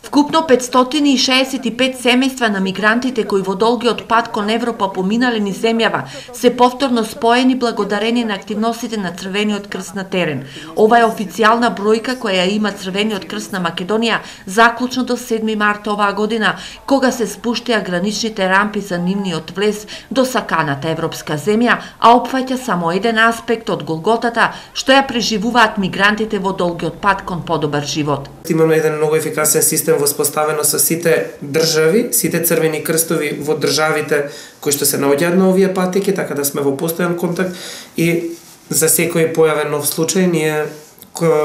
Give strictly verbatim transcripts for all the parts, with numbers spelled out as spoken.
Вкупно петстотини и шеесет и пет семејства на мигрантите кои во долгиот пат кон Европа поминале низ земјава се повторно споени благодарение на активностите на Црвениот крст на терен. Ова е официјална бројка која ја има Црвениот крст на Македонија заклучно до седми март оваа година, кога се спуштија граничните рампи за нивниот влез до саканата европска земја, а опфаќа само еден аспект од голготата што ја преживуваат мигрантите во долгиот пат кон подобар живот. Имаме еден многу ефикасен систем воспоставено со сите држави, сите црвени крстови во државите кои што се наоѓаат на овие патеки, така да сме во постојан контакт и за секој појавен нов случај ние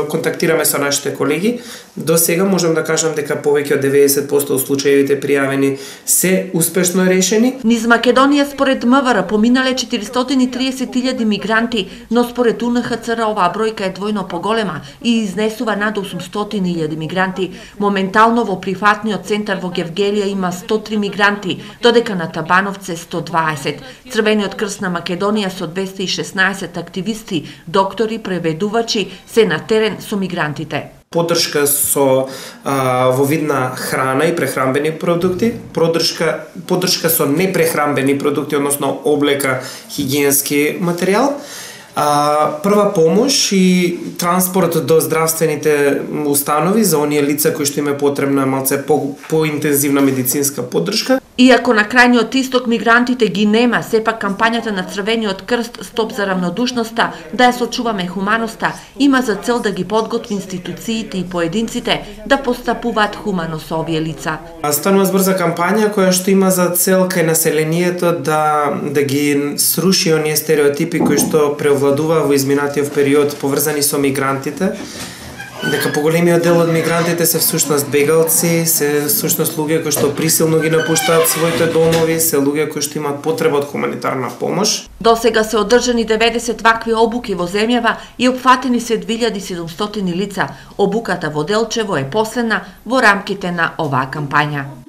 контактираме со нашите колеги. До сега можам да кажам дека повеќе од деветдесет проценти од случаевите пријавени се успешно решени. Низ Македонија според МВР поминале четиристотини и триесет илјади мигранти, но според У Н Х Ц Р оваа бројка е двојно поголема и изнесува над осумстотини илјади мигранти. Моментално во прифатниот центар во Гевгелија има сто три мигранти, додека на Табановце сто дваесет. Црвениот крст на Македонија со двесте и шеснаесет активисти, доктори, преведувачи се на терен со мигрантите. Поддршка со а, во вид на храна и прехранбени продукти, поддршка, поддршка со непрехранбени продукти, односно облека, хигиенски материјал, а, прва помош и транспорт до здравствените установи за оние лица кои што им е потребна малце по, поинтензивна медицинска поддршка. Иако на крајниот исток мигрантите ги нема, сепак кампањата на Црвениот крст Стоп за равнодушноста, да ја сочуваме хуманоста, има за цел да ги подготви институциите и поединците да постапуваат хумано со овие лица. Станува збор за кампања која што има за цел кај населението да да ги сруши оние стереотипи кои што преовладува во изминатиот период поврзани со мигрантите. Дека поголемиот дел од мигрантите се всушност бегалци, се всушност луѓе кои што присилно ги напуштаат своите домови, се луѓе кои што имаат потреба од хуманитарна помош. До сега се одржани деветдесет вакви обуки во земјава и опфатени се две илјади и седумстотини лица. Обуката во Делчево е последна во рамките на оваа кампања.